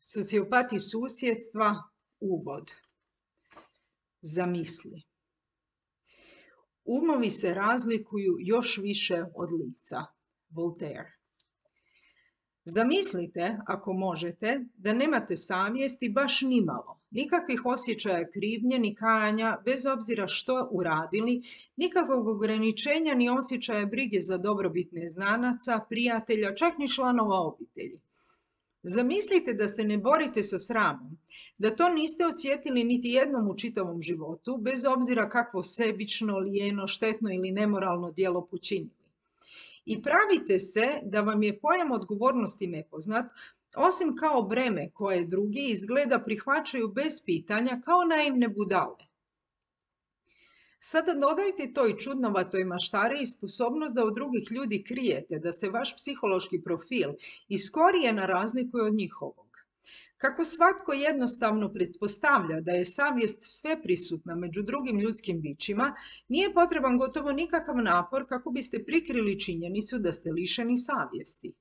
Sociopati susjedstva, uvod. Zamisli. Umovi se razlikuju još više od lica. Voltaire. Zamislite, ako možete, da nemate savjesti baš nimalo, nikakvih osjećaja krivnje ni kajanja, bez obzira što uradili, nikakvog ograničenja ni osjećaja brige za dobrobit neznanaca, prijatelja, čak ni članova obitelji. Zamislite da se ne borite sa sramom, da to niste osjetili niti jednom u čitavom životu, bez obzira kakvo sebično, lijeno, štetno ili nemoralno djelo počinili. I pravite se da vam je pojam odgovornosti nepoznat, osim kao breme koje drugi izgleda prihvaćaju bez pitanja kao naivne budale. Sada dodajte toj čudnovatoj maštari i sposobnost da od drugih ljudi krijete, da se vaš psihološki profil iz korijena razlikuje od njihovog. Kako svatko jednostavno pretpostavlja da je savjest sveprisutna među drugim ljudskim bićima, nije potreban gotovo nikakav napor kako biste prikrili činjenicu da ste lišeni savjesti.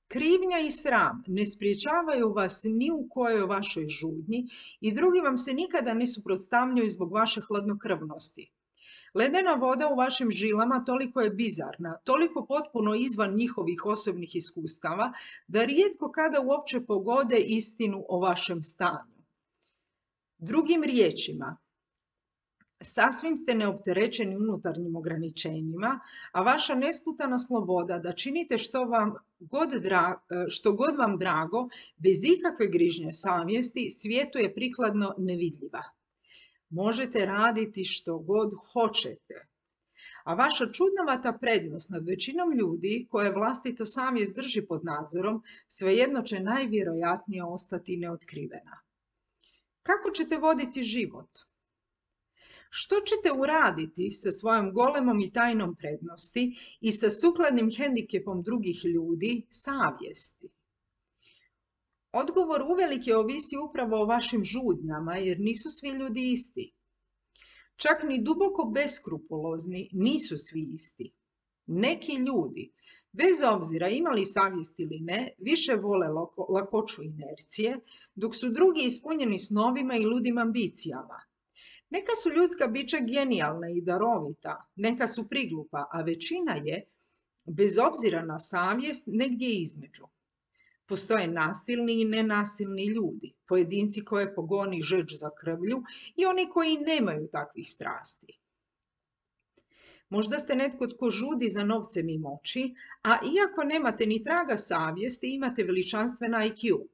Krivnja i sram ne spriječavaju vas ni u kojoj vašoj žudnji i drugi vam se nikada ne suprotstavljaju zbog vaše hladnokrvnosti. Ledena voda u vašim žilama toliko je bizarna, toliko potpuno izvan njihovih osobnih iskustava, da rijetko kada uopće pogode istinu o vašem stanju. Drugim riječima, sasvim ste neopterećeni unutarnjim ograničenjima, a vaša nesputana sloboda da činite što god vam drago, bez ikakve grižnje savjesti, svijetu je prikladno nevidljiva. Možete raditi što god hoćete. A vaša čudnovata prednost nad većinom ljudi koje vlastita savjest drži pod nadzorom, svejedno će najvjerojatnije ostati neotkrivena. Kako ćete voditi život? Što ćete uraditi sa svojom golemom i tajnom prednosti i sa sukladnim hendikepom drugih ljudi, savjesti? Odgovor uvelike ovisi upravo o vašim žudnjama, jer nisu svi ljudi isti. Čak ni duboko beskrupulozni nisu svi isti. Neki ljudi, bez obzira imali savjest ili ne, više vole lakoću inercije, dok su drugi ispunjeni snovima i ludim ambicijama. Neka su ljudska bića genijalna i darovita, neka su priglupa, a većina je, bez obzira na savjest, negdje između. Postoje nasilni i nenasilni ljudi, pojedinci koje pogoni žeđ za krvlju i oni koji nemaju takvih strasti. Možda ste netko tko žudi za novcem i moći, a iako nemate ni traga savjesti, imate veličanstven IQ.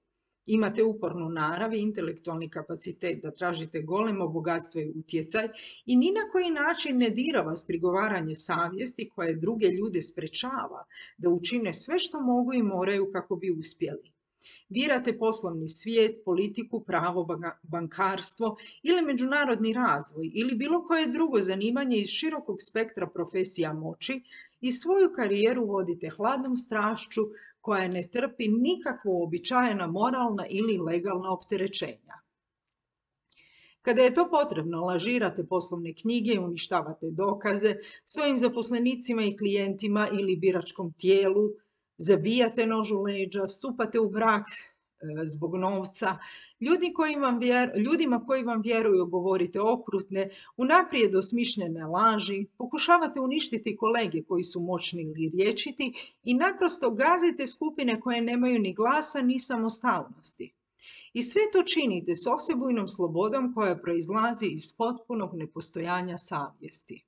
Imate upornu narav i intelektualni kapacitet da tražite golemo bogatstvo i utjecaj i ni na koji način ne dira vas prigovaranje savjesti koje druge ljude sprečava da učine sve što mogu i moraju kako bi uspjeli. Birate poslovni svijet, politiku, pravo, bankarstvo ili međunarodni razvoj ili bilo koje drugo zanimanje iz širokog spektra profesija moći i svoju karijeru vodite hladnom strašću koja ne trpi nikakvo uobičajena moralna ili legalna opterećenja. Kada je to potrebno, lažirate poslovne knjige i uništavate dokaze svojim zaposlenicima i klijentima ili biračkom tijelu, zabijate nož u leđa, stupate u brak zbog novca, ljudima koji vam vjeruju govorite okrutne, unaprijed osmišljene laži, pokušavate uništiti kolege koji su moćni ili rječiti i naprosto gazite skupine koje nemaju ni glasa ni samostalnosti. I sve to činite s osebujnom slobodom koja proizlazi iz potpunog nepostojanja savjesti.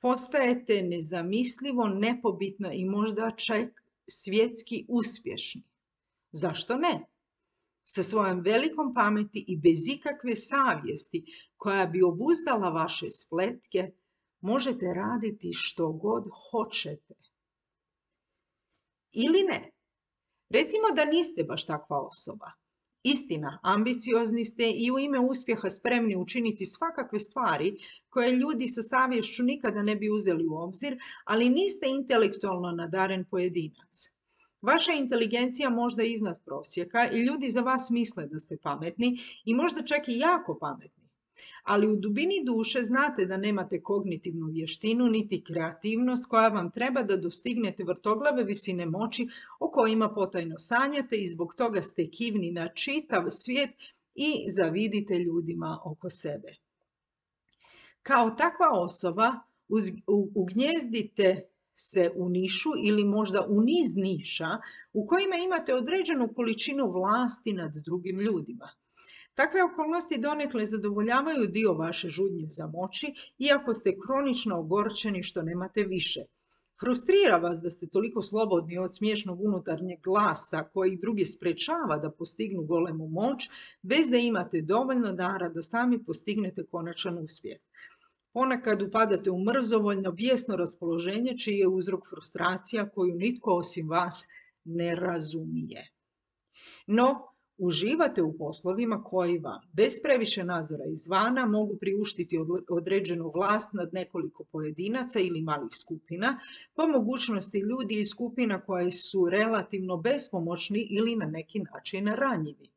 Postajete nezamislivo, nepobitno i možda čak svjetski uspješni. Zašto ne? Sa svojom velikom pameti i bez ikakve savjesti koja bi obuzdala vaše spletke, možete raditi što god hoćete. Ili ne. Recimo da niste baš takva osoba. Istina, ambiciozni ste i u ime uspjeha spremni učiniti svakakve stvari koje ljudi sa savješću nikada ne bi uzeli u obzir, ali niste intelektualno nadaren pojedinac. Vaša inteligencija možda je iznad prosjeka i ljudi za vas misle da ste pametni i možda čak i jako pametni. Ali u dubini duše znate da nemate kognitivnu vještinu niti kreativnost koja vam treba da dostignete vrtoglave visine moći o kojima potajno sanjate i zbog toga ste kivni na čitav svijet i zavidite ljudima oko sebe. Kao takva osoba ugnjezdite se u nišu ili možda u niz niša u kojima imate određenu količinu vlasti nad drugim ljudima. Takve okolnosti donekle zadovoljavaju dio vaše žudnje za moći, iako ste kronično ogorčeni što nemate više. Frustrira vas da ste toliko slobodni od smiješnog unutarnjeg glasa koji drugi sprečava da postignu golemu moć, bez da imate dovoljno dara da sami postignete konačan uspjeh. Ponekad upadate u mrzovoljno, bijesno raspoloženje čiji je uzrok frustracija koju nitko osim vas ne razumije. No, uživate u poslovima koji vam, bez previše nadzora izvana, mogu priuštiti određenu vlast nad nekoliko pojedinaca ili malih skupina, po mogućnosti ljudi iz skupina koji su relativno bespomoćni ili na neki način ranjivi.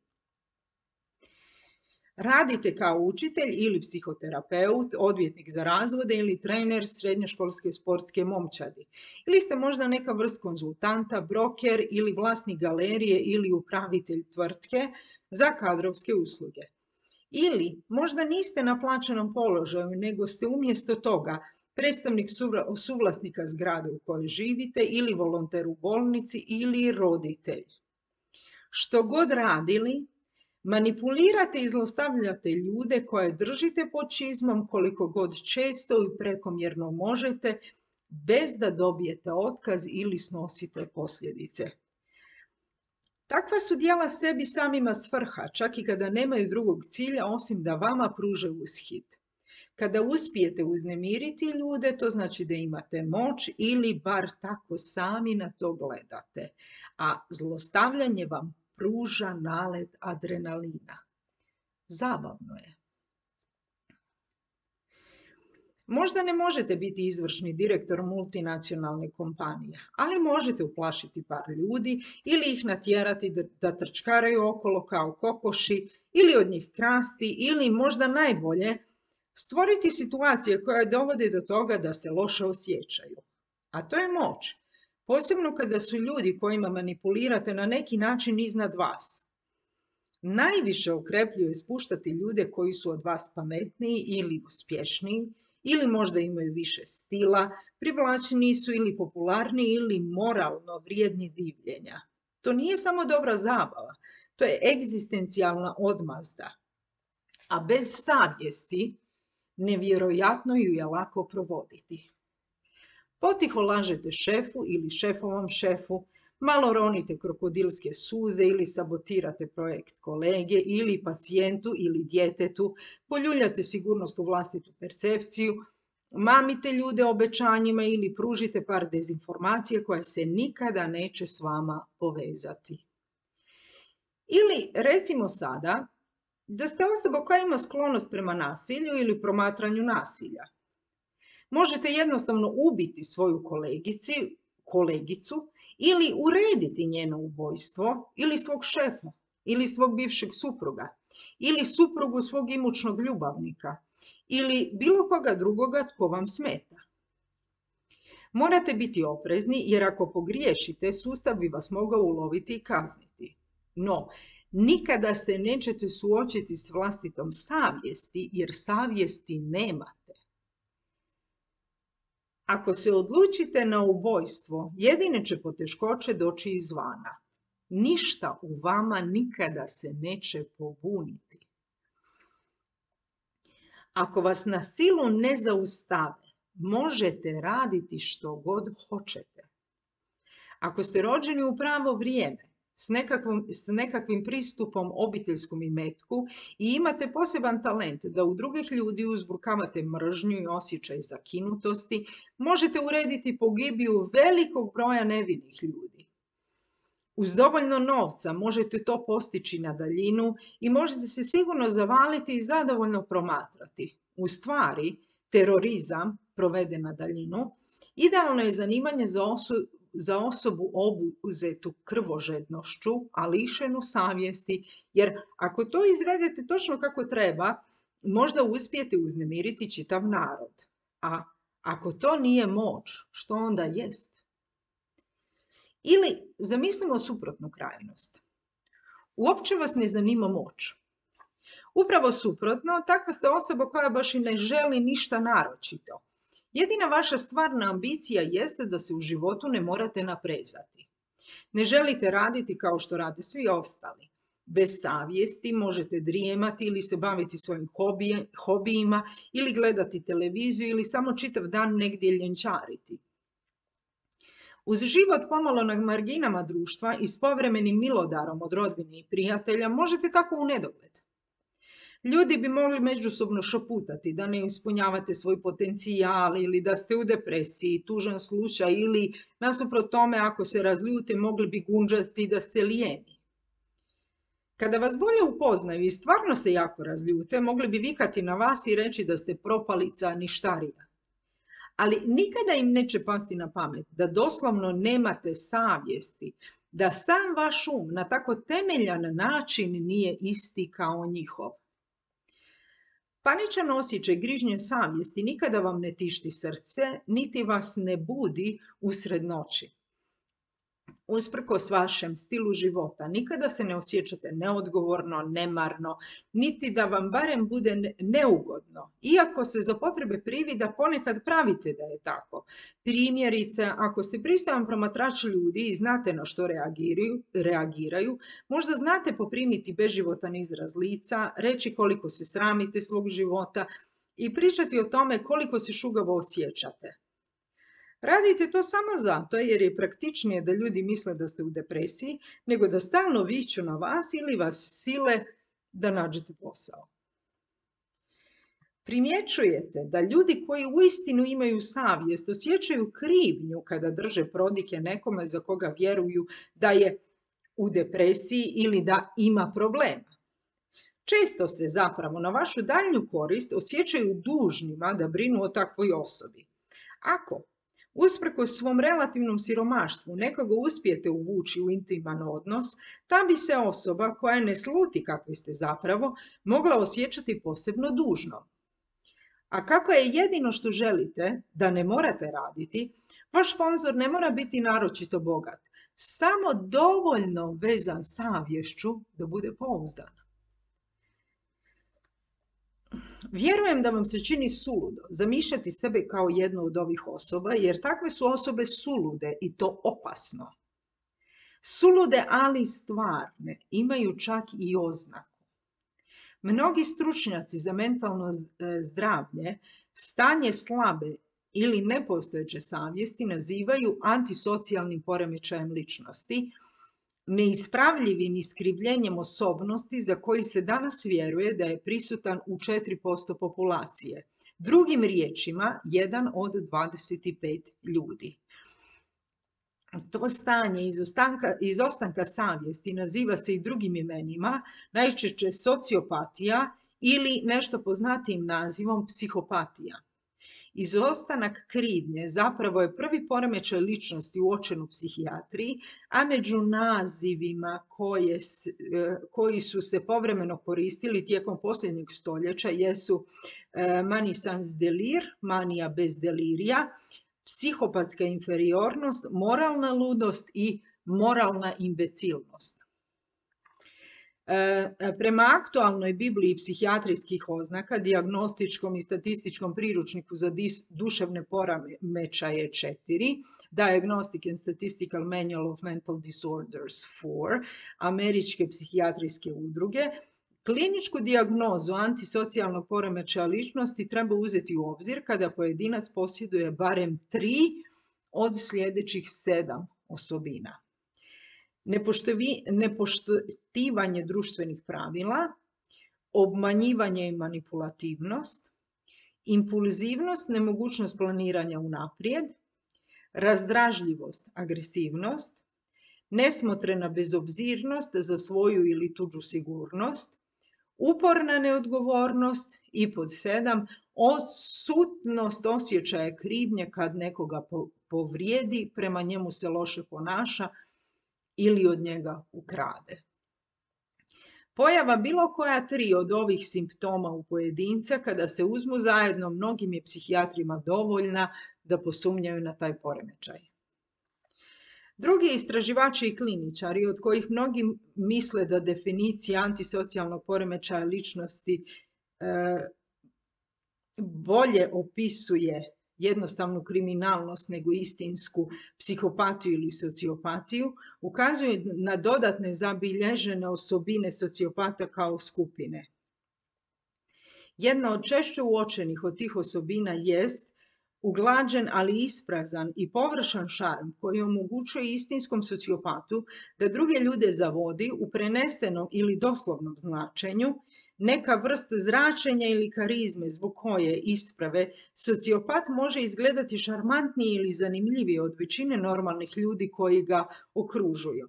Radite kao učitelj ili psihoterapeut, odvjetnik za razvode ili trener srednjoškolske sportske momčadi. Ili ste možda neka vrst konzultanta, broker ili vlasnik galerije ili upravitelj tvrtke za kadrovske usluge. Ili možda niste na plaćenom položaju, nego ste umjesto toga predstavnik suvlasnika zgrade u kojoj živite ili volonter u bolnici ili roditelj. Što god radili, manipulirate i zlostavljate ljude koje držite pod čizmom koliko god često i prekomjerno možete, bez da dobijete otkaz ili snosite posljedice. Takva su djela sebi samima svrha, čak i kada nemaju drugog cilja osim da vama pruže ushit. Kada uspijete uznemiriti ljude, to znači da imate moć ili bar tako sami na to gledate, a zlostavljanje vam pruža nalet adrenalina. Zabavno je. Možda ne možete biti izvršni direktor multinacionalne kompanije, ali možete uplašiti par ljudi ili ih natjerati da trčkaraju okolo kao kokoši ili od njih krasti ili možda najbolje stvoriti situacije koje dovode do toga da se loše osjećaju. A to je moć. Posebno kada su ljudi kojima manipulirate na neki način iznad vas. Najviše okrepljuje spuštati ljude koji su od vas pametniji ili uspješniji, ili možda imaju više stila, privlačniji su ili popularniji ili moralno vrijedni divljenja. To nije samo dobra zabava, to je egzistencijalna odmazda. A bez savjesti nevjerojatno ju je lako provoditi. Potiho lažete šefu ili šefovom šefu, malo ronite krokodilske suze ili sabotirate projekt kolege ili pacijentu ili djetetu, poljuljate sigurnost u vlastitu percepciju, mamite ljude obećanjima ili pružite par dezinformacija koje se nikada neće s vama povezati. Ili recimo sada da ste osoba koja ima sklonost prema nasilju ili promatranju nasilja. Možete jednostavno ubiti svoju kolegicu ili urediti njeno ubojstvo ili svog šefa ili svog bivšeg supruga ili suprugu svog imućnog ljubavnika ili bilo koga drugoga tko vam smeta. Morate biti oprezni jer ako pogriješite, sustav bi vas mogao uloviti i kazniti. No, nikada se nećete suočiti s vlastitom savjesti jer savjesti nemate. Ako se odlučite na ubojstvo, jedine će poteškoće doći izvana. Ništa u vama nikada se neće pobuniti. Ako vas na silu ne zaustave, možete raditi što god hoćete. Ako ste rođeni u pravo vrijeme, s nekakvim pristupom obiteljskom imetku i imate poseban talent da u drugih ljudi uzburkavate mržnju i osjećaj zakinutosti, možete urediti pogibiju velikog broja nevinih ljudi. Uz dovoljno novca možete to postići na daljinu i možete se sigurno zavaliti i zadovoljno promatrati. U stvari, terorizam proveden na daljinu idealno je zanimanje za osobu obuzetu krvožednošću, a lišenu savjesti, jer ako to izvedete točno kako treba, možda uspijete uznemiriti čitav narod. A ako to nije moć, što onda jest? Ili zamislimo suprotnu krajnost. Uopće vas ne zanima moć. Upravo suprotno, takva ste osoba koja baš i ne želi ništa naročito. Jedina vaša stvarna ambicija jeste da se u životu ne morate naprezati. Ne želite raditi kao što rade svi ostali. Bez savjesti možete drijemati ili se baviti svojim hobijima ili gledati televiziju ili samo čitav dan negdje ljenčariti. Uz život pomalo na marginama društva i s povremenim milodarom od rodbine i prijatelja možete tako u nedogled. Ljudi bi mogli međusobno šaputati da ne ispunjavate svoj potencijal ili da ste u depresiji, tužan slučaj ili nasuprot tome ako se razljute mogli bi gunđati da ste lijeni. Kada vas bolje upoznaju i stvarno se jako razljute, mogli bi vikati na vas i reći da ste propalica ništarija. Ali nikada im neće pasti na pamet da doslovno nemate savjesti, da sam vaš um na tako temeljan način nije isti kao njihov. Paničan osjećaj grižnje savjesti nikada vam ne tišti srce, niti vas ne budi usred noći. Usprkos vašem stilu života, nikada se ne osjećate neodgovorno, nemarno, niti da vam barem bude neugodno, iako se za potrebe privida ponekad pravite da je tako. Primjerice, ako ste pristojan promatrač ljudi i znate na što reagiraju, možda znate poprimiti beživotan izraz lica, reći koliko se sramite svog života i pričati o tome koliko se šugavo osjećate. Radite to samo zato jer je praktičnije da ljudi misle da ste u depresiji, nego da stalno viču na vas ili vas sile da nađete posao. Primjećujete da ljudi koji uistinu imaju savjest osjećaju krivnju kada drže prodike nekome za koga vjeruju da je u depresiji ili da ima problema. Često se zapravo na vašu daljnju korist osjećaju dužnima da brinu o takvoj osobi. Ako usprkos svom relativnom siromaštvu nekoga uspijete uvući u intiman odnos, ta bi se osoba koja ne sluti kakvi ste zapravo mogla osjećati posebno dužno. A kako je jedino što želite da ne morate raditi, vaš sponzor ne mora biti naročito bogat, samo dovoljno vezan savješću da bude pouzdan. Vjerujem da vam se čini suludo zamišljati sebe kao jednu od ovih osoba, jer takve su osobe sulude i to opasno. Sulude, ali stvarne, imaju čak i oznaku. Mnogi stručnjaci za mentalno zdravlje stanje slabe ili nepostojeće savjesti nazivaju antisocijalnim poremećajem ličnosti, neispravljivim iskrivljenjem osobnosti za koji se danas vjeruje da je prisutan u 4% populacije. Drugim riječima, 1 od 25 ljudi. To stanje izostanka savjesti naziva se i drugim imenima, najčešće sociopatija ili nešto poznatijim nazivom psihopatija. Izostanak krivnje zapravo je prvi poremećaj ličnosti uočen u psihijatriji, a među nazivima koji su se povremeno koristili tijekom posljednjeg stoljeća jesu mani sans delir, manija bez delirija, psihopatska inferiornost, moralna ludost i moralna imbecilnost. Prema aktualnoj Bibliji psihijatrijskih oznaka, dijagnostičkom i statističkom priručniku za duševne poremećaje 4, Diagnostic and Statistical Manual of Mental Disorders 4, američke psihijatrijske udruge, kliničku dijagnozu antisocijalnog poremećaja ličnosti treba uzeti u obzir kada pojedinac posjeduje barem 3 od sljedećih 7 osobina. Nepoštivanje društvenih pravila, obmanjivanje i manipulativnost, impulzivnost, nemogućnost planiranja unaprijed, razdražljivost, agresivnost, nesmotrena bezobzirnost za svoju ili tuđu sigurnost, uporna neodgovornost i pod 7, odsutnost osjećaja krivnje kad nekoga povrijedi, prema njemu se loše ponaša ili od njega ukrade. Pojava bilo koja 3 od ovih simptoma u pojedinca kada se uzmu zajedno mnogim je psihijatrima dovoljna da posumnjaju na taj poremećaj. Drugi istraživači i kliničari, od kojih mnogi misle da definicija antisocijalnog poremećaja ličnosti bolje opisuje jednostavnu kriminalnost nego istinsku psihopatiju ili sociopatiju, ukazuju na dodatne zabilježene osobine sociopata kao skupine. Jedna od češće uočenih od tih osobina jest uglađen, ali isprazan i površan šarm koji omogućuje istinskom sociopatu da druge ljude zavodi u prenesenom ili doslovnom značenju, neka vrsta zračenja ili karizme zbog koje isprave sociopat može izgledati šarmantniji ili zanimljiviji od većine normalnih ljudi koji ga okružuju.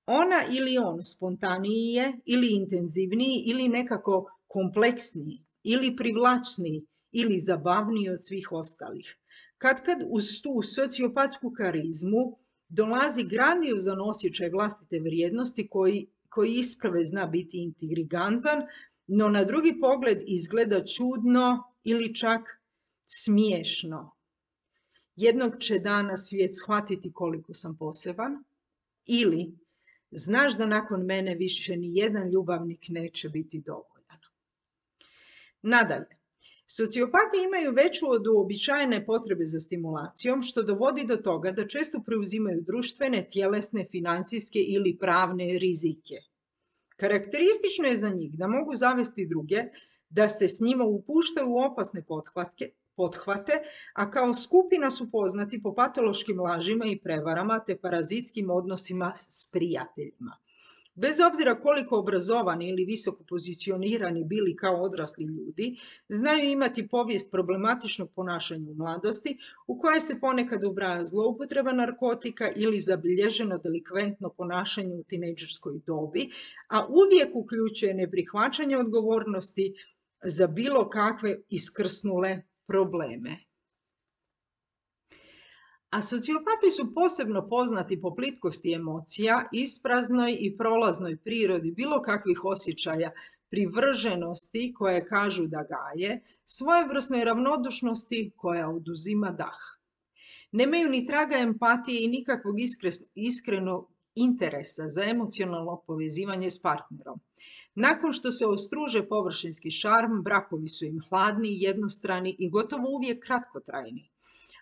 Ona ili on spontaniji je ili intenzivniji ili nekako kompleksniji ili privlačniji ili zabavniji od svih ostalih. Kad uz tu sociopatsku karizmu dolazi grandiozan osjećaj vlastite vrijednosti koji isprave zna biti intrigantan, no na drugi pogled izgleda čudno ili čak smiješno. Jednog će dana svijet shvatiti koliko sam poseban, ili znaš da nakon mene više ni jedan ljubavnik neće biti dovoljan. Nadalje, sociopati imaju veću od uobičajene potrebe za stimulacijom, što dovodi do toga da često preuzimaju društvene, tjelesne, financijske ili pravne rizike. Karakteristično je za njih da mogu zavesti druge, da se s njima upuštaju u opasne pothvate, a kao skupina su poznati po patološkim lažima i prevarama te parazitskim odnosima s prijateljima. Bez obzira koliko obrazovani ili visoko pozicionirani bili kao odrasli ljudi, znaju imati povijest problematičnog ponašanja u mladosti, u koje se ponekad ubraja zloupotreba narkotika ili zabilježeno delikventno ponašanje u tinejdžerskoj dobi, a uvijek uključuje neprihvaćanje odgovornosti za bilo kakve iskrsnule probleme. A sociopati su posebno poznati po plitkosti emocija, ispraznoj i prolaznoj prirodi bilo kakvih osjećaja, privrženosti koje kažu da gaje, svojevrsnoj ravnodušnosti koja oduzima dah. Nemaju ni traga empatije i nikakvog iskrenog interesa za emocionalno povezivanje s partnerom. Nakon što se ostruže površinski šarm, brakovi su im hladni, jednostrani i gotovo uvijek kratkotrajni.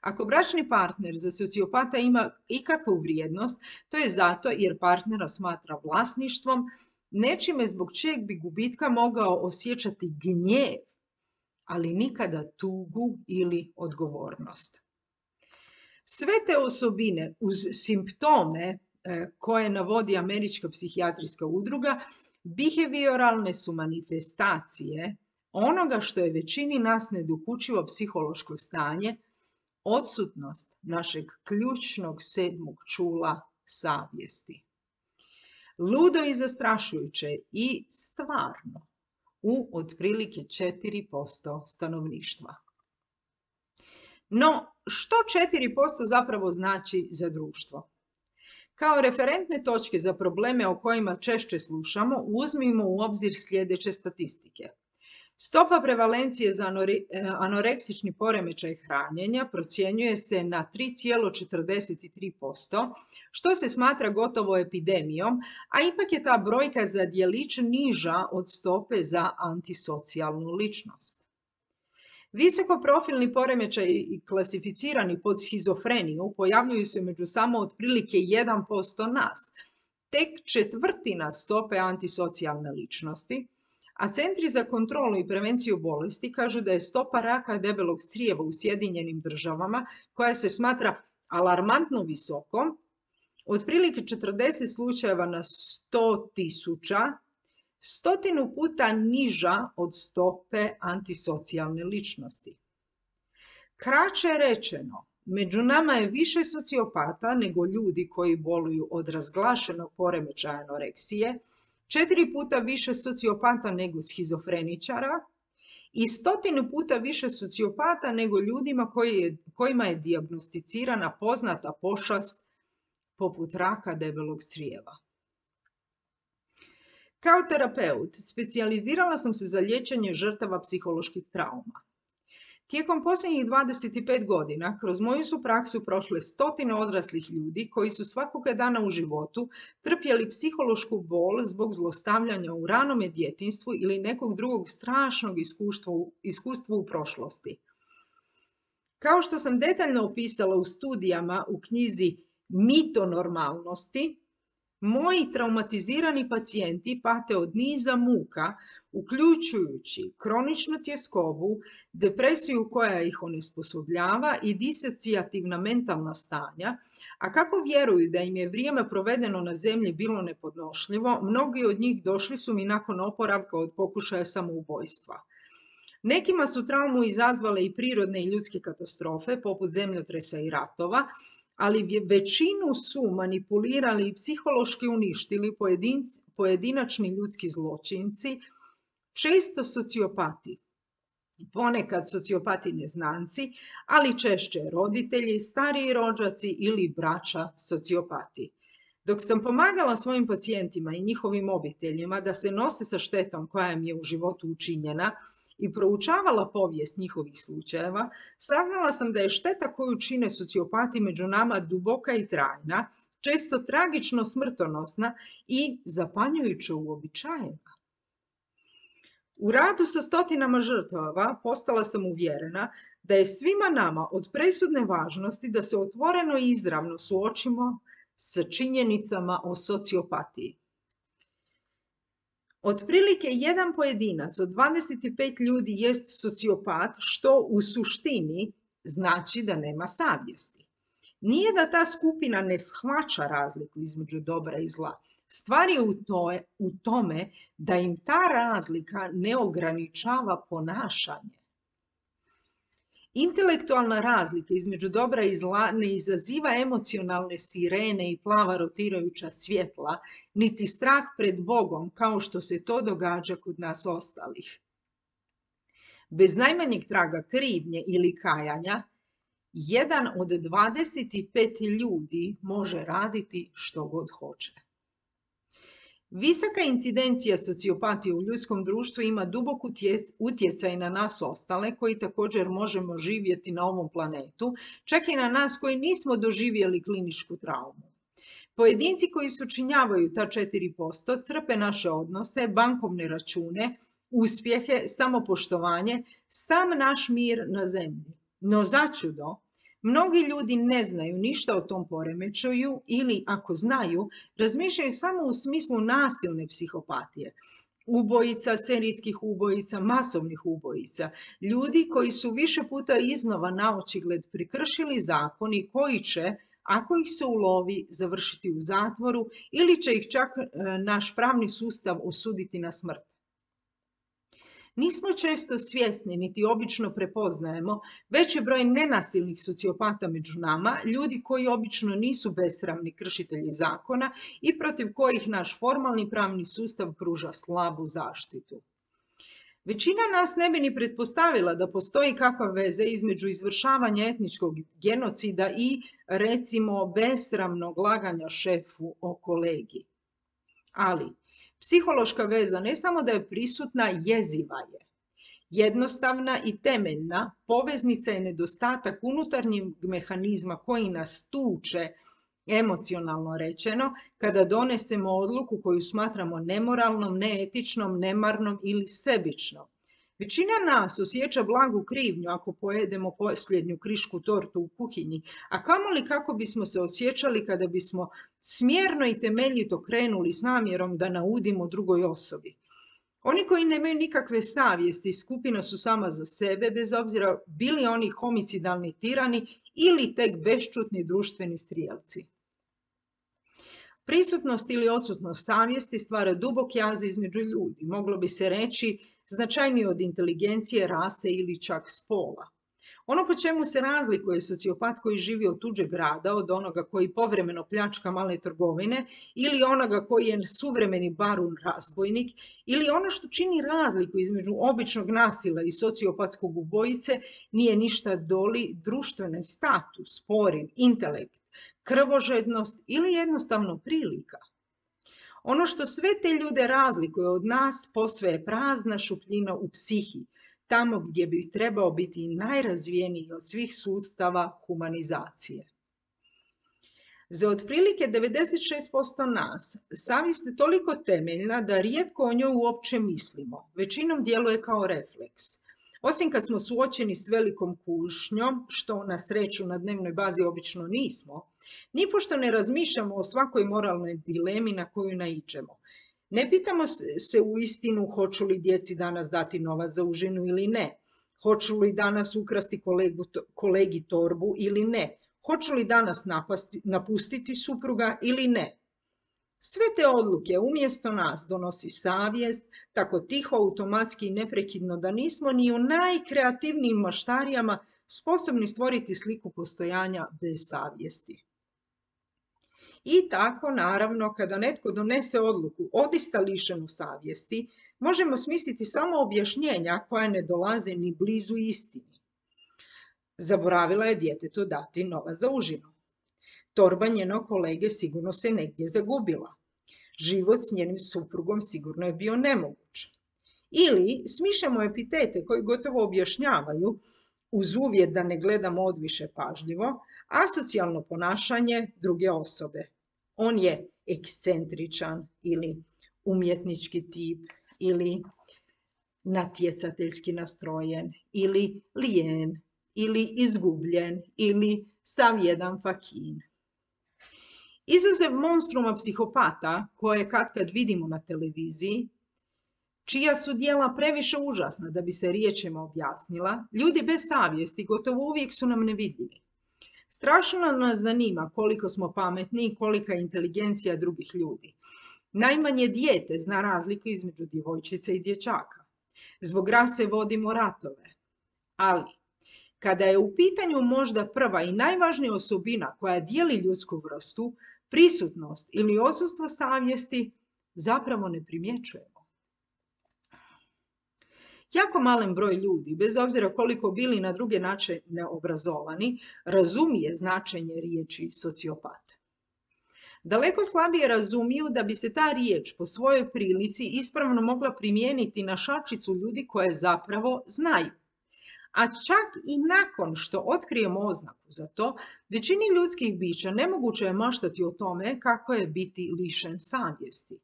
Ako bračni partner za sociopata ima ikakvu vrijednost, to je zato jer partnera smatra vlasništvom, nečime zbog čijeg bi gubitka mogao osjećati gnjev, ali nikada tugu ili odgovornost. Sve te osobine uz simptome koje navodi Američka psihijatrijska udruga, behavioralne su manifestacije onoga što je većini nas nedokučivo psihološko stanje, odsutnost našeg ključnog 7. čula savjesti. Ludo i zastrašujuće i stvarno u otprilike 4% stanovništva. No, što 4% zapravo znači za društvo? Kao referentne točke za probleme o kojima češće slušamo, uzmimo u obzir sljedeće statistike. Stopa prevalencije za anoreksični poremećaj hranjenja procjenjuje se na 3,43%, što se smatra gotovo epidemijom, a ipak je ta brojka za djelić niža od stope za antisocijalnu ličnost. Visokoprofilni poremećaji klasificirani pod schizofreniju pojavljuju se među samo otprilike 1% nas, tek 1/4 stope antisocijalne ličnosti, a centri za kontrolu i prevenciju bolesti kažu da je stopa raka debelog crijeva u Sjedinjenim Državama, koja se smatra alarmantno visokom, otprilike 40 slučajeva na 100.000, 100 puta niža od stope antisocijalne ličnosti. Kraće rečeno, među nama je više sociopata nego ljudi koji boluju od razglašenog poremećaja anoreksije, 4 puta više sociopata nego schizofreničara i 100 puta više sociopata nego ljudima kojima je dijagnosticirana poznata pošast poput raka debelog crijeva. Kao terapeut specijalizirala sam se za liječenje žrtava psiholoških trauma. Tijekom posljednjih 25 godina kroz moju su praksu prošle stotine odraslih ljudi koji su svakoga dana u životu trpjeli psihološku bol zbog zlostavljanja u ranome djetinjstvu ili nekog drugog strašnog iskustva u prošlosti. Kao što sam detaljno opisala u studijama u knjizi Mitonormalnosti, moji traumatizirani pacijenti pate od niza muka, uključujući kroničnu tjeskobu, depresiju koja ih onesposobljava i disocijativna mentalna stanja, a kako vjeruju da im je vrijeme provedeno na zemlji bilo nepodnošljivo, mnogi od njih došli su mi nakon oporavka od pokušaja samoubojstva. Nekima su traumu izazvale i prirodne i ljudske katastrofe, poput zemljotresa i ratova, ali većinu su manipulirali i psihološki uništili pojedinačni ljudski zločinci, često sociopati. Ponekad sociopati neznanci, ali češće roditelji, stariji rođaci ili braća sociopati. Dok sam pomagala svojim pacijentima i njihovim obiteljima da se nose sa štetom koja im je u životu učinjena, i proučavala povijest njihovih slučajeva, saznala sam da je šteta koju čine sociopati među nama duboka i trajna, često tragično smrtonosna i zapanjujuće uobičajena. U radu sa stotinama žrtava postala sam uvjerena da je svima nama od presudne važnosti da se otvoreno i izravno suočimo sa činjenicama o sociopatiji. Otprilike jedan pojedinac od 25 ljudi jest sociopat, što u suštini znači da nema savjesti. Nije da ta skupina ne shvaća razliku između dobra i zla. Stvar je u tome da im ta razlika ne ograničava ponašanje. Intelektualna razlika između dobra i zla ne izaziva emocionalne sirene i plava rotirajuća svjetla, niti strah pred Bogom kao što se to događa kod nas ostalih. Bez najmanjeg traga krivnje ili kajanja, jedan od 25 ljudi može raditi što god hoće. Visoka incidencija sociopatije u ljudskom društvu ima dubok utjecaj na nas ostale koji također možemo živjeti na ovom planetu, čak i na nas koji nismo doživjeli kliničku traumu. Pojedinci koji sučinjavaju ta 4% crpe naše odnose, bankovne račune, uspjehe, samopoštovanje, sam naš mir na zemlji. No začudo, mnogi ljudi ne znaju ništa o tom poremećaju ili, ako znaju, razmišljaju samo u smislu nasilne psihopatije. Ubojica, serijskih ubojica, masovnih ubojica, ljudi koji su više puta iznova naočigled prekršili zakon i koji će, ako ih se ulovi, završiti u zatvoru ili će ih čak naš pravni sustav osuditi na smrt. Nismo često svjesni, niti obično prepoznajemo veći broj nenasilnih sociopata među nama, ljudi koji obično nisu besramni kršitelji zakona i protiv kojih naš formalni pravni sustav pruža slabu zaštitu. Većina nas ne bi ni pretpostavila da postoji kakva veza između izvršavanja etničkog genocida i, recimo, besramnog laganja šefu o kolegi. Ali psihološka veza ne samo da je prisutna, jeziva je. Jednostavna i temeljna poveznica je nedostatak unutarnjeg mehanizma koji nas tuče, emocionalno rečeno, kada donesemo odluku koju smatramo nemoralnom, neetičnom, nemarnom ili sebičnom. Većina nas osjeća blagu krivnju ako pojedemo posljednju krišku tortu u kuhinji, a kamoli kako bismo se osjećali kada bismo smjerno i temeljito krenuli s namjerom da naudimo drugoj osobi. Oni koji nemaju nikakve savjesti skupina su sama za sebe, bez obzira bili oni homicidalni tirani ili tek bešćutni društveni strijelci. Prisutnost ili odsutnost savjesti stvara dubok jaz između ljudi, moglo bi se reći značajnije od inteligencije, rase ili čak spola. Ono po čemu se razlikuje sociopat koji živi od tuđeg rada, od onoga koji povremeno pljačka male trgovine ili onoga koji je suvremeni barun razbojnik ili ono što čini razliku između običnog nasila i sociopatskog ubojice nije ništa doli društveni status, poriv, intelekt, krvožednost ili jednostavno prilika. Ono što sve te ljude razlikuje od nas posve je prazna šupljina u psihi, tamo gdje bi trebao biti najrazvijeniji od svih sustava humanizacije. Za otprilike 96% nas savjest je toliko temeljna da rijetko o njoj uopće mislimo. Većinom djeluje kao refleks. Osim kad smo suočeni s velikom kušnjom, što na sreću na dnevnoj bazi obično nismo, nipošto ne razmišljamo o svakoj moralnoj dilemi na koju naiđemo. Ne pitamo se u istinu hoću li djeci danas dati novac za užinu ili ne, hoću li danas ukrasti kolegi torbu ili ne, hoću li danas napustiti supruga ili ne. Sve te odluke umjesto nas donosi savjest, tako tiho, automatski i neprekidno da nismo ni u najkreativnijim maštarijama sposobni stvoriti sliku postojanja bez savjesti. I tako, naravno, kada netko donese odluku odista lišenu savjesti, možemo smisliti samo objašnjenja koja ne dolaze ni blizu istini. Zaboravila je djetetu dati novac za užinu. Torba njenog kolege sigurno se negdje zagubila. Život s njenim suprugom sigurno je bio nemoguć. Ili smišljamo epitete koji gotovo objašnjavaju, uz uvjet da ne gledamo odviše pažljivo, asocijalno ponašanje druge osobe. On je ekscentričan ili umjetnički tip ili natjecateljski nastrojen ili lijen ili izgubljen ili sav jedan fakin. Izuzev monstruma psihopata koje katkad vidimo na televiziji, čija su djela previše užasna da bi se riječima objasnila, ljudi bez savjesti gotovo uvijek su nam nevidljivi. Strašno nas zanima koliko smo pametni i kolika je inteligencija drugih ljudi. Najmanje dijete zna razliku između djevojčice i dječaka. Zbog rase vodimo ratove. Ali, kada je u pitanju možda prva i najvažnija osobina koja dijeli ljudsku vrstu, prisutnost ili odsustvo savjesti, zapravo ne primjećujemo. Jako malen broj ljudi, bez obzira koliko bili na druge načine obrazovani, razumije značenje riječi sociopat. Daleko slabije razumiju da bi se ta riječ po svojoj prilici ispravno mogla primijeniti na šačicu ljudi koje zapravo znaju. A čak i nakon što otkrijemo oznaku za to, većini ljudskih bića nemoguće je maštati o tome kako je biti lišen savjesti.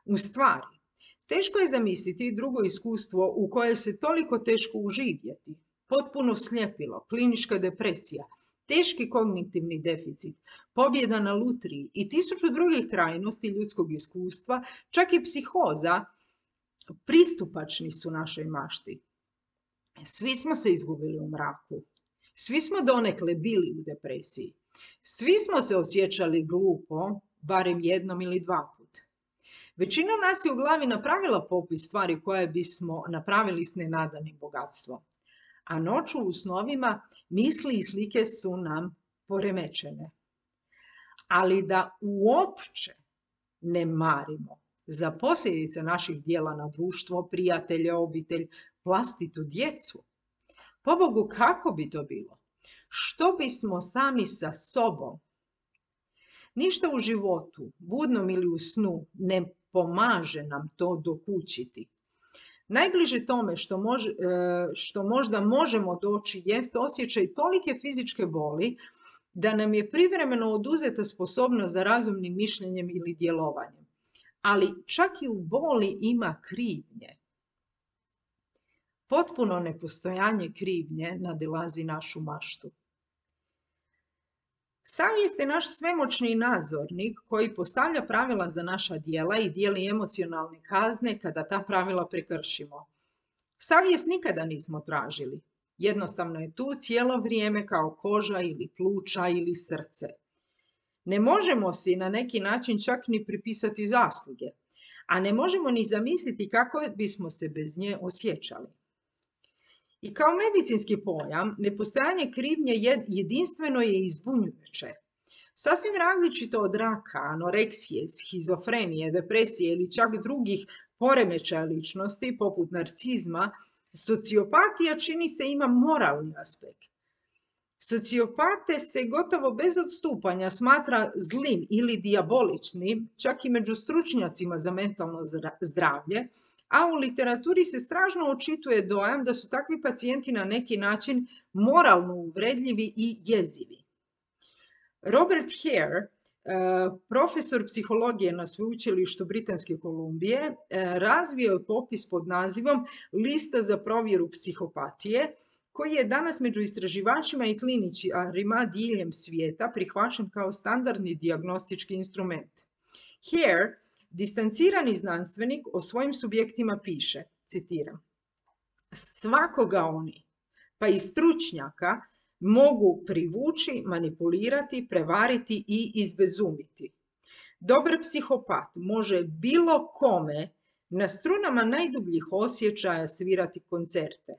U stvari, teško je zamisliti drugo iskustvo u koje se toliko teško uživjeti. Potpuno sljepilo, klinička depresija, teški kognitivni deficit, pobjeda na lutriji i 1000 drugih krajnosti ljudskog iskustva, čak i psihoza, pristupačni su našoj mašti. Svi smo se izgubili u mraku. Svi smo donekle bili u depresiji. Svi smo se osjećali glupo, barem jednom ili dva put. Većina nas je u glavi napravila popis stvari koje bismo napravili s nenadanim bogatstvom. A noću u snovima misli i slike su nam poremećene. Ali da uopće ne marimo za posljedice naših djela na društvo, prijatelje, obitelj, vlastitu djecu. Pobogu, kako bi to bilo? Što bismo sami sa sobom? Ništa u životu, budnom ili u snu, ne pomaže nam to dokučiti. Najbliže tome što možda možemo doći jest osjećaj tolike fizičke boli da nam je privremeno oduzeta sposobnost za razumnim mišljenjem ili djelovanjem. Ali čak i u boli ima krivnje. Potpuno nepostojanje krivnje nadilazi našu maštu. Savjest je naš svemoćni nadzornik koji postavlja pravila za naša djela i dijeli emocionalne kazne kada ta pravila prekršimo. Savjest nikada nismo tražili. Jednostavno je tu cijelo vrijeme kao koža ili pluća ili srce. Ne možemo si na neki način čak ni pripisati zasluge, a ne možemo ni zamisliti kako bismo se bez nje osjećali. I kao medicinski pojam, nepostojanje krivnje jedinstveno je i zbunjujuće. Sasvim različito od raka, anoreksije, schizofrenije, depresije ili čak drugih poremećaja ličnosti, poput narcizma, sociopatija čini se ima moralni aspekt. Sociopate se gotovo bez odstupanja smatra zlim ili dijaboličnim, čak i među stručnjacima za mentalno zdravlje, a u literaturi se strašno očituje dojam da su takvi pacijenti na neki način moralno uvredljivi i jezivi. Robert Hare, profesor psihologije na sveučilištu Britanske Kolumbije, razvio je popis pod nazivom Lista za provjeru psihopatije, koji je danas među istraživačima i kliničarima diljem svijeta prihvaćen kao standardni dijagnostički instrument. Hare, distancirani znanstvenik, o svojim subjektima piše, citiram: "Svakoga oni, pa i stručnjaka, mogu privući, manipulirati, prevariti i izbezumiti. Dobar psihopat može bilo kome na strunama najdubljih osjećaja svirati koncerte.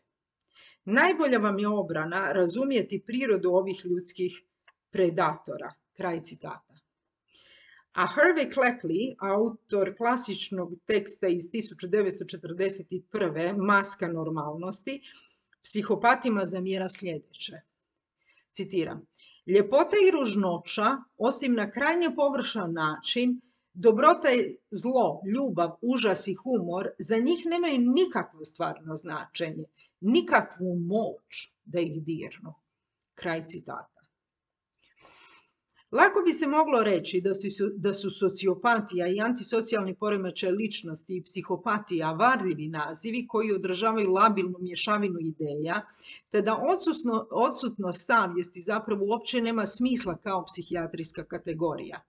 Najbolja vam je obrana razumjeti prirodu ovih ljudskih predatora." Kraj citata. A Harvey Cleckley, autor klasičnog teksta iz 1941. Maska normalnosti, psihopatima zamjera sljedeće. Citiram: "Ljepota i ružnoća, osim na krajnje površan način, dobrota i zlo, ljubav, užas i humor, za njih nemaju nikakvo stvarno značenje, nikakvu moć da ih dirnu." Kraj citata. Lako bi se moglo reći da su sociopatija i antisocijalni poremećaj ličnosti i psihopatija varljivi nazivi koji odražavaju labilnu mješavinu ideja, te da odsutnost savjesti zapravo uopće nema smisla kao psihijatrijska kategorija.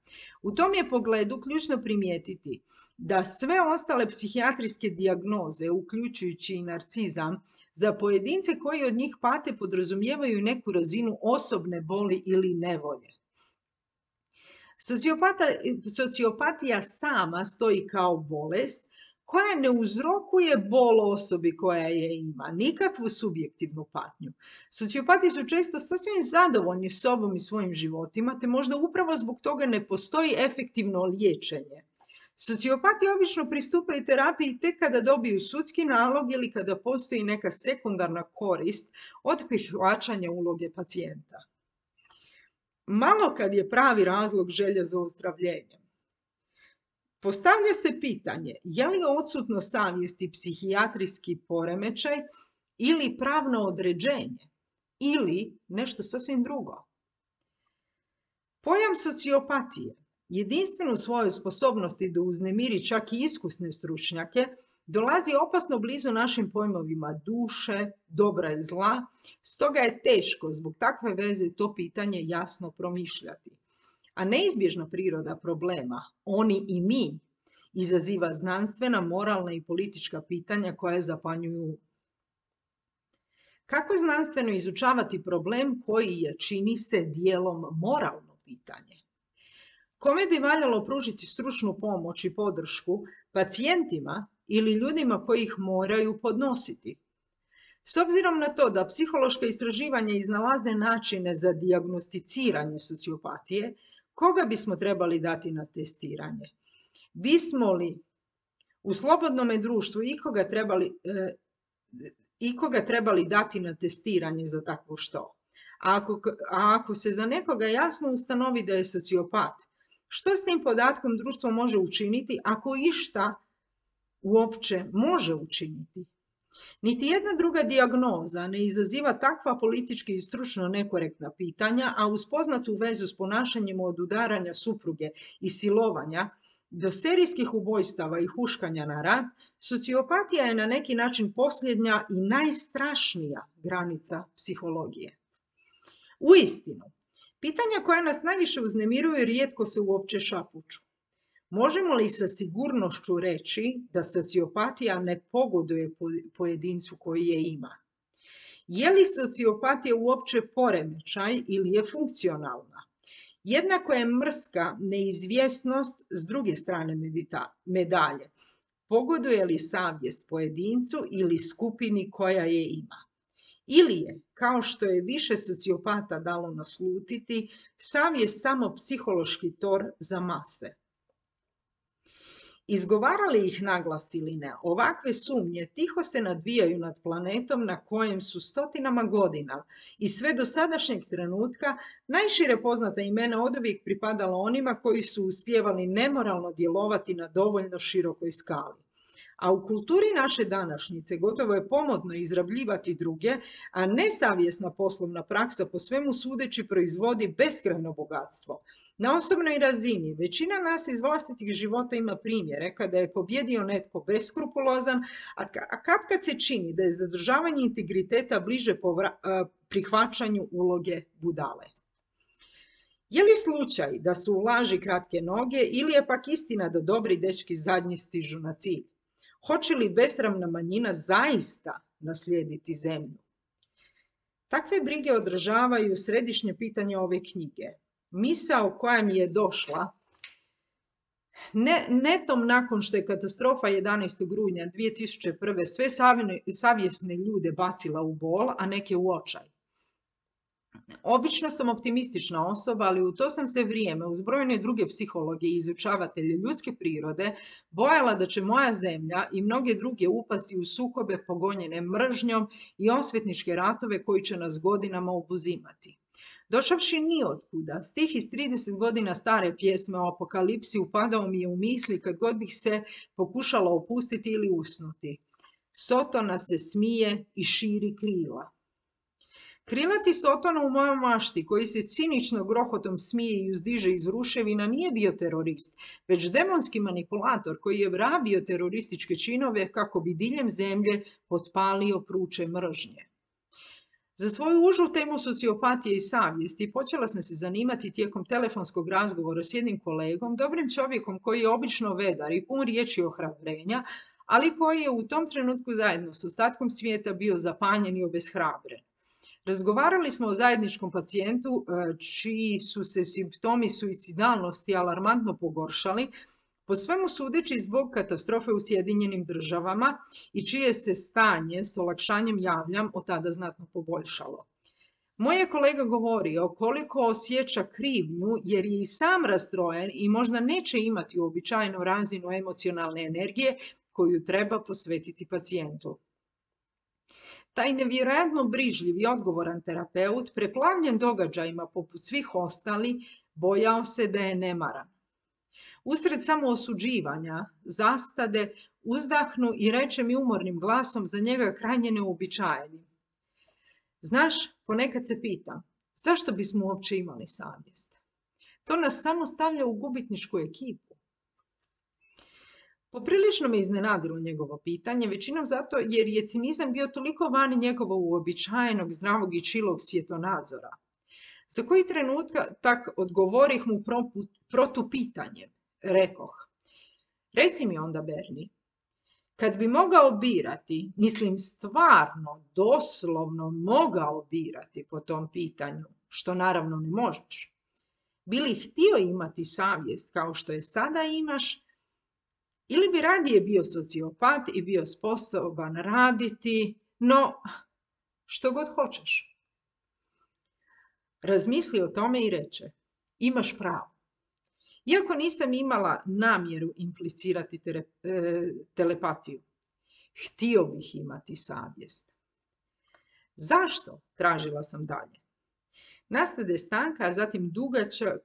U tom je pogledu ključno primijetiti da sve ostale psihijatrijske dijagnoze, uključujući i narcizam, za pojedince koji od njih pate podrazumijevaju neku razinu osobne boli ili nevolje. Sociopatija sama stoji kao bolest koja ne uzrokuje bol osobi koja je ima, nikakvu subjektivnu patnju. Sociopati su često sasvim zadovoljni sobom i svojim životima, te možda upravo zbog toga ne postoji efektivno liječenje. Sociopati obično pristupaju terapiji tek kada dobiju sudski nalog ili kada postoji neka sekundarna korist od prihvaćanja uloge pacijenta. Malo kad je pravi razlog želja za ozdravljenjem. Postavlja se pitanje, je li odsutnost savjesti psihijatrijski poremećaj ili pravno određenje ili nešto sasvim drugo? Pojam sociopatije, jedinstven u svojoj sposobnosti da uznemiri čak i iskusne stručnjake, dolazi opasno blizu našim pojmovima duše, dobra i zla, stoga je teško zbog takve veze to pitanje jasno promišljati. A neizbježna priroda problema, oni i mi, izaziva znanstvena, moralna i politička pitanja koja zapanjuju. Kako znanstveno izučavati problem koji je, čini se, dijelom moralno pitanje? Kome bi valjalo pružiti stručnu pomoć i podršku, pacijentima ili ljudima koji ih moraju podnositi? S obzirom na to da psihološka istraživanja iznalaze načine za dijagnosticiranje sociopatije, koga bismo trebali dati na testiranje? Bismo li u slobodnome društvu ikoga trebali dati na testiranje za takvo što? A ako se za nekoga jasno ustanovi da je sociopat, što s tim podatkom društvo može učiniti ako išta uopće može učiniti? Niti jedna druga dijagnoza ne izaziva takva politički i stručno nekorektna pitanja, a uz poznatu vezu s ponašanjem od udaranja supruge i silovanja do serijskih ubojstava i huškanja na rat, sociopatija je na neki način posljednja i najstrašnija granica psihologije. Uistinu, pitanja koja nas najviše uznemiruju rijetko se uopće šapuću. Možemo li sa sigurnošću reći da sociopatija ne pogoduje pojedincu koji je ima? Je li sociopatija uopće poremećaj ili je funkcionalna? Jednako je mrska neizvjesnost s druge strane medalje. Pogoduje li savjest pojedincu ili skupini koja je ima? Ili je, kao što je više sociopata dalo naslutiti, savjest samo psihološki tor za mase? Izgovarali ih naglas ili ne, ovakve sumnje tiho se nadvijaju nad planetom na kojem su stotinama godina i sve do sadašnjeg trenutka najšire poznata imena oduvijek pripadala onima koji su uspijevali nemoralno djelovati na dovoljno širokoj skali. A u kulturi naše današnjice gotovo je pomodno izrabljivati druge, a nesavjesna poslovna praksa po svemu sudeći proizvodi beskrajno bogatstvo. Na osobnoj razini većina nas iz vlastitih života ima primjere kada je pobjedio netko beskrupulozan, a kad se čini da je zadržavanje integriteta bliže prihvaćanju uloge budale. Je li slučaj da su u laži kratke noge ili je pak istina da dobri dečki zadnji stižu na cilj? Hoće li besramna manjina zaista naslijediti zemlju? Takve brige odražavaju središnje pitanje ove knjige. Misao koja mi je došla netom nakon što je katastrofa 11. rujna 2001. sve savjesne ljude bacila u bol, a neke u očaj. Obično sam optimistična osoba, ali u to sam se vrijeme uz brojne druge psihologe i izučavatelje ljudske prirode bojala da će moja zemlja i mnoge druge upasti u sukobe pogonjene mržnjom i osvetničke ratove koji će nas godinama obuzimati. Došavši niotkuda, stih iz 30 godina stare pjesme o apokalipsi upadao mi je u misli kad god bih se pokušala opustiti ili usnuti. Sotona se smije i širi krila. Krilati Sotona u mojoj mašti, koji se cinično grohotom smije i uzdiže iz ruševina, nije bio terorist, već demonski manipulator koji je rabio terorističke činove kako bi diljem zemlje potpalio pruče mržnje. Za svoju užu temu sociopatije i savjesti počela sam se zanimati tijekom telefonskog razgovora s jednim kolegom, dobrim čovjekom koji je obično vedar i pun riječi ohrabrenja, ali koji je u tom trenutku zajedno s ostatkom svijeta bio zapanjen i obeshrabren. Razgovarali smo o zajedničkom pacijentu čiji su se simptomi suicidalnosti alarmantno pogoršali, po svemu sudeći zbog katastrofe u Sjedinjenim Državama i čije se stanje s olakšanjem javljam od tada znatno poboljšalo. Moj je kolega govorio koliko osjeća krivnju jer je i sam rastrojen i možda neće imati uobičajenu razinu emocionalne energije koju treba posvetiti pacijentu. Taj nevjerojatno brižljiv i odgovoran terapeut, preplavljen događajima poput svih ostali, bojao se da je nemaran. Usred samoosuđivanja, zastade, uzdahnu i reče mi umornim glasom za njega krajnje neuobičajenim. Znaš, ponekad se pitam, zašto bismo uopće imali savjest? To nas samo stavlja u gubitničku ekipu. Poprilično me iznenadilo njegovo pitanje, većinom zato jer je cinizam bio toliko vani njegovog uobičajenog, zdravog i čilog svjetonadzora. Za koji trenutka tak odgovorih mu protupitanjem. Rekoh, reci mi onda, Berni, kad bi mogao birati, mislim stvarno, doslovno mogao birati po tom pitanju, što naravno ne možeš, bi li htio imati savjest kao što je sada imaš, ili bi radije bio sociopat i bio sposoban raditi, no što god hoćeš. Razmisli o tome i reče, imaš pravo. Iako nisam imala namjeru implicirati telepatiju, htio bih imati savjest. Zašto? Tražila sam dalje. Nastade stanka, a zatim dugačak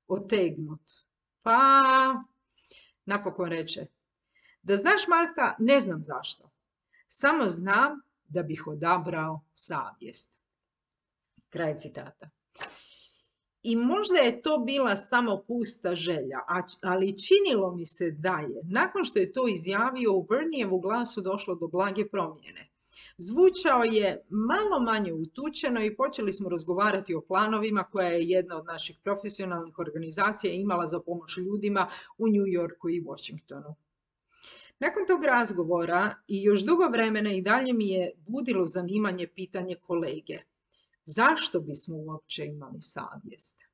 otegnut. Pa, napokon reče, da znaš, Marta, ne znam zašto. Samo znam da bih odabrao savjest. Kraj citata. I možda je to bila samo pusta želja, ali činilo mi se da je, nakon što je to izjavio, u Bernijevu glasu došlo do blage promjene. Zvučao je malo manje utučeno i počeli smo razgovarati o planovima koja je jedna od naših profesionalnih organizacija imala za pomoć ljudima u New Yorku i Washingtonu. Nakon tog razgovora i još dugo vremena i dalje mi je budilo zanimanje pitanje kolege. Zašto bismo uopće imali savjest?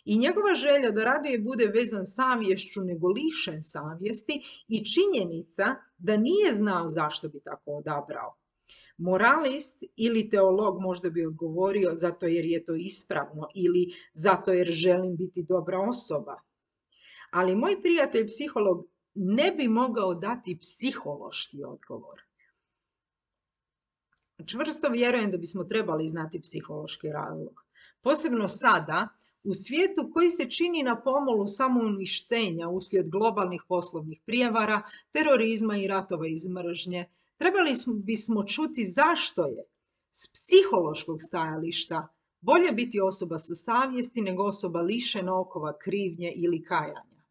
I njegova želja da radije bude vezan savješću nego lišen savjesti i činjenica da nije znao zašto bi tako odabrao. Moralist ili teolog možda bi odgovorio zato jer je to ispravno ili zato jer želim biti dobra osoba. Ali moj prijatelj psiholog ne bi mogao dati psihološki odgovor. Čvrsto vjerujem da bismo trebali znati psihološki razlog. Posebno sada, u svijetu koji se čini na pomolu samouništenja uslijed globalnih poslovnih prijevara, terorizma i ratova iz mržnje, trebali bismo čuti zašto je s psihološkog stajališta bolje biti osoba sa savjesti nego osoba lišena okova krivnje ili kajanja.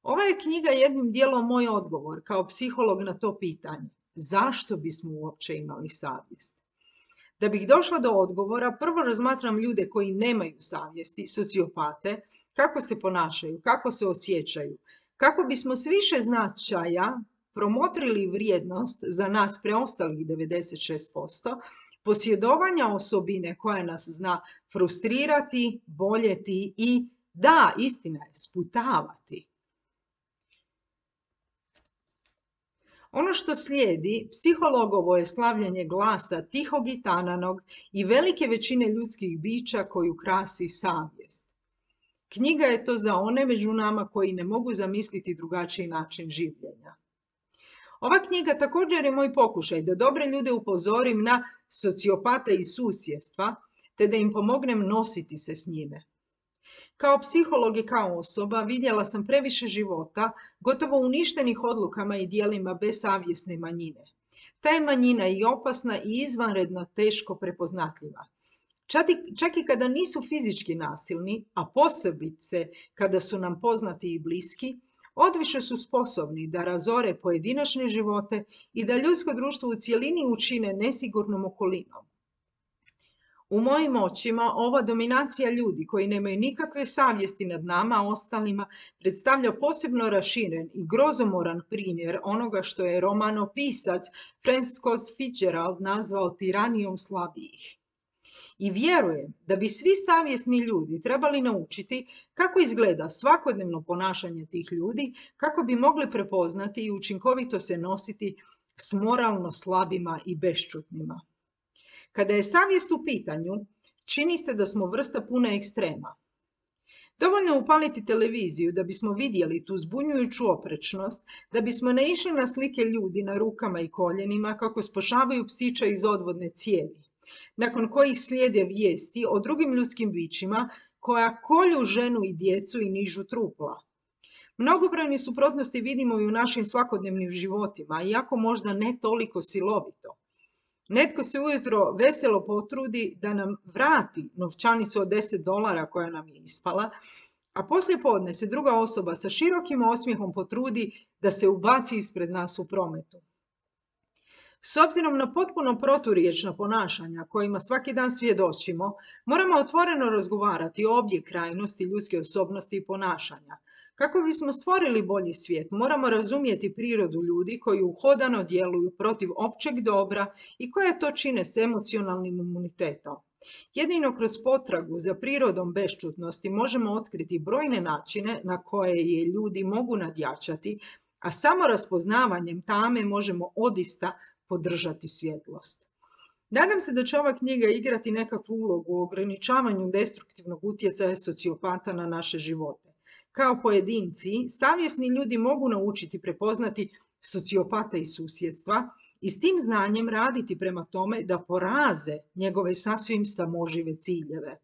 Ova je knjiga jednim dijelom moj odgovor kao psiholog na to pitanje. Zašto bismo uopće imali savjest? Da bih došla do odgovora, prvo razmatram ljude koji nemaju savjesti, sociopate, kako se ponašaju, kako se osjećaju, kako bismo s više značaja promotrili vrijednost za nas preostalih 96%, posjedovanja osobine koja nas zna frustrirati, boljeti i, da, istina je, sputavati. Ono što slijedi, psihologovo je slavljenje glasa tihog i tananog i velike većine ljudskih bića koju krasi savjest. Knjiga je to za one među nama koji ne mogu zamisliti drugačiji način življenja. Ova knjiga također je moj pokušaj da dobre ljude upozorim na sociopate i susjedstva, te da im pomognem nositi se s njime. Kao psiholog i kao osoba vidjela sam previše života, gotovo uništenih odlukama i dijelima besavjesne manjine. Ta je manjina i opasna i izvanredno teško prepoznatljiva. Čak i kada nisu fizički nasilni, a posebice kada su nam poznati i bliski, odviše su sposobni da razore pojedinačne živote i da ljudsko društvo u cjelini učine nesigurnom okolinom. U mojim očima ova dominacija ljudi koji nemaju nikakve savjesti nad nama, ostalima, predstavlja posebno raširen i grozomoran primjer onoga što je romanopisac Francis Scott Fitzgerald nazvao tiranijom slabijih. I vjerujem da bi svi savjesni ljudi trebali naučiti kako izgleda svakodnevno ponašanje tih ljudi, kako bi mogli prepoznati i učinkovito se nositi s moralno slabima i bešćutnima. Kada je savjest u pitanju, čini se da smo vrsta puna ekstrema. Dovoljno je upaliti televiziju da bismo vidjeli tu zbunjujuću oprečnost, da bismo naišli na slike ljudi na rukama i koljenima kako spašavaju psića iz odvodne cijevi, nakon kojih slijede vijesti o drugim ljudskim bićima koja kolju ženu i djecu i nižu trupla. Mnogobrojne suprotnosti vidimo i u našim svakodnevnim životima, iako možda ne toliko silovito. Netko se ujutro veselo potrudi da nam vrati novčanicu od $10 koja nam je ispala, a poslije podne se druga osoba sa širokim osmijehom potrudi da se ubaci ispred nas u prometu. S obzirom na potpuno proturječna ponašanja kojima svaki dan svjedočimo, moramo otvoreno razgovarati o obje krajnosti ljudske osobnosti i ponašanja. Kako bismo stvorili bolji svijet, moramo razumjeti prirodu ljudi koji uhodano djeluju protiv općeg dobra i koje to čine s emocionalnim imunitetom. Jedino kroz potragu za prirodom bešćutnosti možemo otkriti brojne načine na koje je ljudi mogu nadjačati, a samo raspoznavanjem tame možemo odista podržati svjetlost. Nadam se da će ova knjiga igrati nekakvu ulogu u ograničavanju destruktivnog utjecaja sociopata na naše živote. Kao pojedinci, savjesni ljudi mogu naučiti prepoznati sociopata i susjedstva i s tim znanjem raditi prema tome da poraze njegove sasvim samožive ciljeve.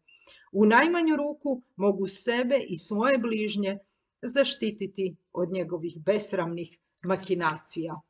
U najmanju ruku mogu sebe i svoje bližnje zaštititi od njegovih besramnih makinacija.